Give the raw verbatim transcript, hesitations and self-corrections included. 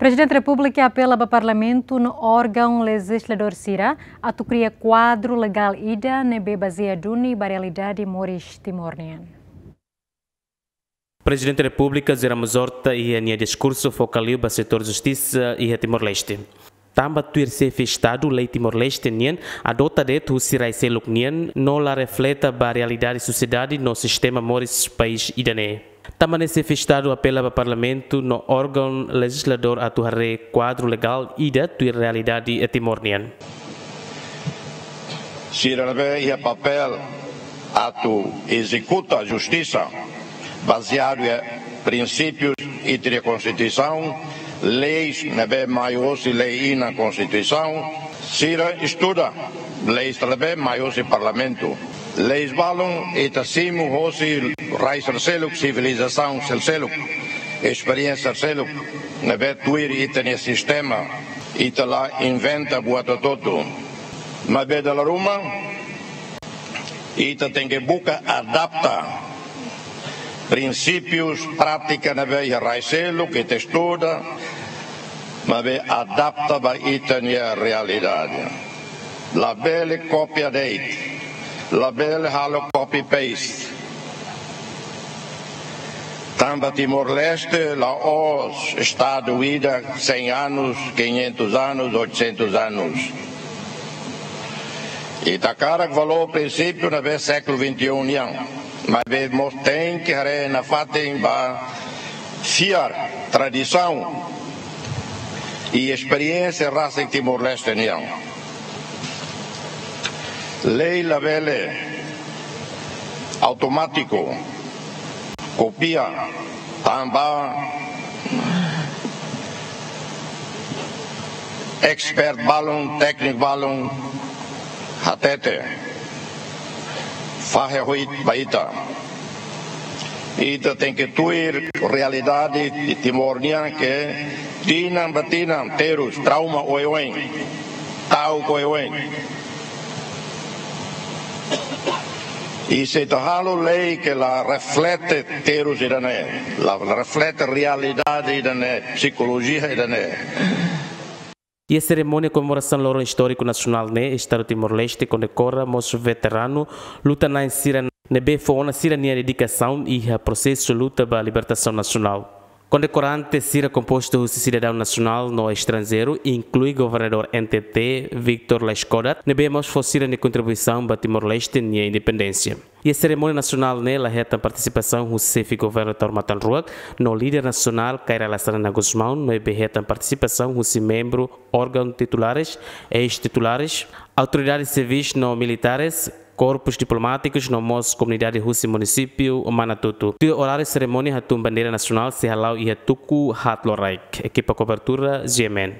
Prezidente Repúblika apela ba Parlamentu no órgaun lejizladór sira atu kria kuadru legál ida ne'ebé bazeia duni ba realidade moris Timor nian. Prezidente Repúblika José Ramos Horta iha nia diskursu foka liu ba setór justisa iha Timor-Leste. Tanba tuir xefe Estadu, lei Timor-Leste nian adota de'it husi rai seluk nian no la refleta ba realidade sosiedade no sistema moris país ida-ne'e. Tanba ne'e xefe Estadu apela ba Parlamentu no órgaun lejizladór atu haree kuadru legál ida tuir realidade Timor nian. Sira ne'ebé iha papél atu ezekuta justisa bazeadu iha prinsípius ita-nia Konstituisaun, leis ne'ebé mai hosi lei inan Konstituisaun, sira estuda leis ne'ebé mai hosi Parlamentu. Leis balun ita simu hosi rai sira seluk, sivilizasaun sira seluk, esperiénsia sira seluk, ne'ebé tuir ita-nia sistema, ita la inventa buat hotu-hotu. Maibé dala ruma, ita tenke buka adapta prinsípius, prátika ne'ebé iha rai seluk, ita estuda, maibé adapta ba ita-nia realidade. Labele kópia de'it, labele halo copy paste. Tanba Timor-Leste la'ós Estadu ida cem anos, quinhentos anos, oitocentos anos. Ita hakarak valór prinsípiu ne'ebé sékulu vinte e um nian, maibé mós tenke haree nafatin ba fiar tradisaun i esperiénsia rasik Timor-Leste nian. Lei labele automátiku, kópia, tanba expert balun, tékniku balun hatete, fahe hoit ba ita. Ita tenke tuir realidade Timor nian ke tinan ba tinan terus trauma oioin, ta'uk oioin. I se ita halo lei ke la reflete terus ida-ne'e, la reflete realidade ida-ne'e, psikolojia ida-ne'e. Iha serimónia komemorasaun loron istóriku nasionál ne'e, Estadu Timor-Leste kondekora mós veteranu luta-na'in sira ne'ebé fó ona sira-nia dedikasaun iha prosesu luta ba libertasaun nasionál. Kondekorante sira kompostu husi sidadaun nasionál no estranjeiru, inklui Governadór N T T, Victor Laiskodat, ne'ebé mós fó sira-nia kontribuisaun ba Timor-Leste nia independénsia. Iha serimónia nasionál ne'e la hetan partisipasaun husi Xefe Governu Taur Matan Ruak no líder nasionál Kay Rala Xanana Gusmão, maibé hetan partisipasaun husi membru órgaun titulares, eis-titulares, autoridades sivis no militares, korpus diplomátikus no mós komunidade husi munisípiu Manatuto. Tuir oráriu serimónia hatún bandeira nasionál sei hala'o iha tuku haat loraik. Ekipa kobertura, G M N.